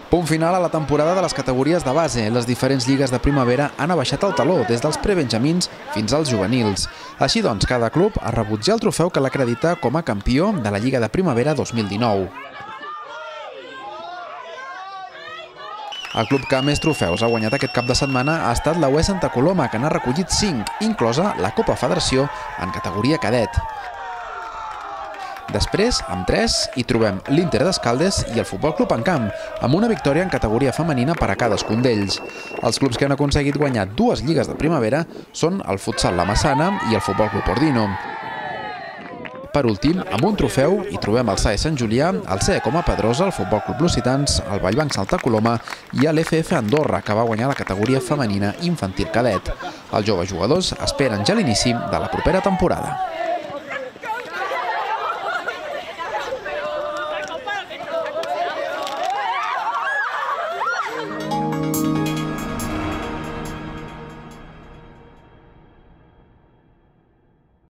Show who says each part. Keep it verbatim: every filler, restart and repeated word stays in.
Speaker 1: Punt final a la temporada de les categories de base. Les diferents lligues de primavera han abaixat el taló, des dels prebenjamins fins als juvenils. Així doncs, cada club ha rebut ja el trofeu que l'acredita com a campió de la Lliga de Primavera dos mil dinou. El club que més trofeus ha guanyat aquest cap de setmana ha estat la U E Santa Coloma, que n'ha recollit cinc, inclosa la Copa Federació en categoria cadet. Després, amb tres, hi trobem l'Inter d'Escaldes i el Futbol Club Encamp, amb una victòria en categoria femenina per a cadascun d'ells. Els clubs que han aconseguit guanyar dues lligues de primavera són el Futsal La Massana i el Futbol Club Ordino. Per últim, amb un trofeu, hi trobem el S A E Sant Julià, el C E Coma Pedrosa, el Futbol Club Lusitans, el Vallbanc Santa Coloma i l'F F Andorra, que va guanyar la categoria femenina infantil cadet. Els joves jugadors esperen ja l'inici de la propera temporada.